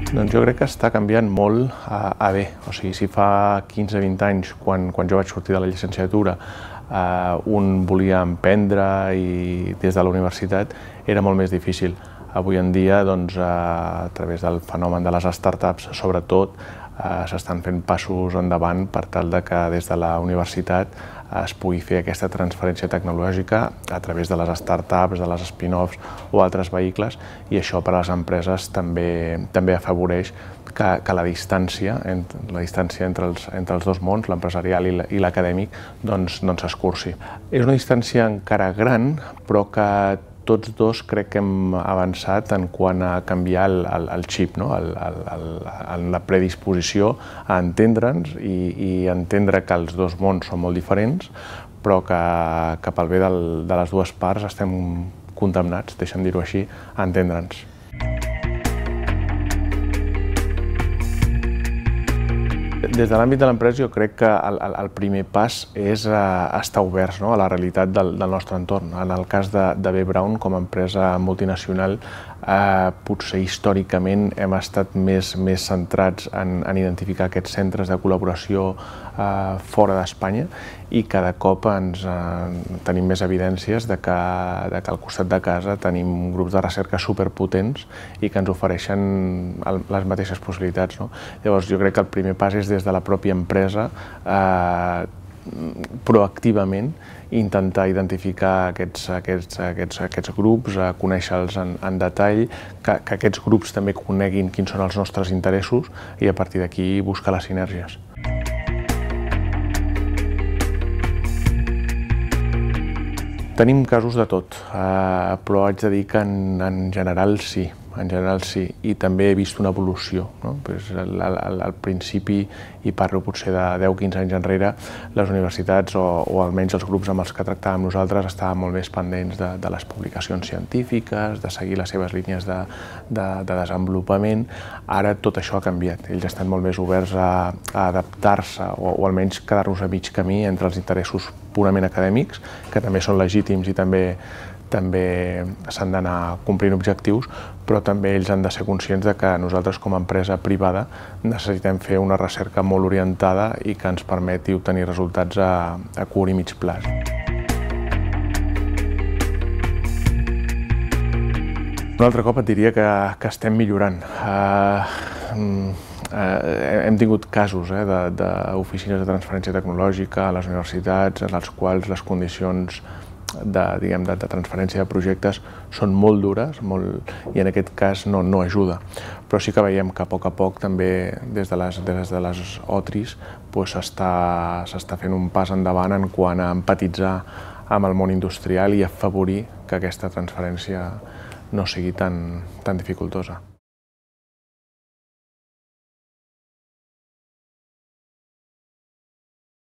Doncs jo crec que està canviant molt a bé. O sigui, si fa 15-20 anys, quan jo vaig sortir de la llicenciatura, un volia emprendre i des de la universitat era molt més difícil. Avui en dia, doncs, a través del fenomen de les startups, sobretot, s'estan fent passos endavant per tal de que des de la universitat es pugui fer aquesta transferència tecnològica a través de les startups, de les spin-offs o altres vehicles, i això per a les empreses també afavoreix que la distància entre els dos mons, l'empresarial i l'acadèmic, doncs s'escurci. És una distància encara gran, però que tots dos crec que hem avançat en quant a canviar el xip, la predisposició a entendre'ns i entendre que els dos mons són molt diferents, però que pel bé de les dues parts estem condemnats, deixa'm dir-ho així, a entendre'ns. Des de l'àmbit de l'empresa jo crec que el primer pas és estar oberts a la realitat del nostre entorn. En el cas de B. Braun, com a empresa multinacional, potser històricament hem estat més centrats en identificar aquests centres de col·laboració fora d'Espanya i cada cop tenim més evidències de que al costat de casa tenim grups de recerca superpotents i que ens ofereixen les mateixes possibilitats. Llavors jo crec que el primer pas és des de la pròpia empresa proactivament intentar identificar aquests grups, conèixer-los en detall, que aquests grups també coneguin quins són els nostres interessos i a partir d'aquí buscar les sinergies. Tenim casos de tot, però haig de dir que en general sí. I també he vist una evolució. Al principi, i parlo potser de 10-15 anys enrere, les universitats, o almenys els grups amb els que tractàvem nosaltres, estaven molt més pendents de les publicacions científiques, de seguir les seves línies de desenvolupament. Ara tot això ha canviat. Ells estan molt més oberts a adaptar-se o almenys quedar-nos a mig camí entre els interessos purament acadèmics, que també són legítims i també s'han d'anar complint objectius, però també ells han de ser conscients que nosaltres com a empresa privada necessitem fer una recerca molt orientada i que ens permeti obtenir resultats a curt i mig termini. Un altre cop et diria que estem millorant. Hem tingut casos d'oficines de transferència tecnològica a les universitats en les quals les condicions de transferència de projectes són molt dures i en aquest cas no ajuda. Però sí que veiem que a poc també des de les OTRIs s'està fent un pas endavant en quant a empatitzar amb el món industrial i afavorir que aquesta transferència no sigui tan dificultosa.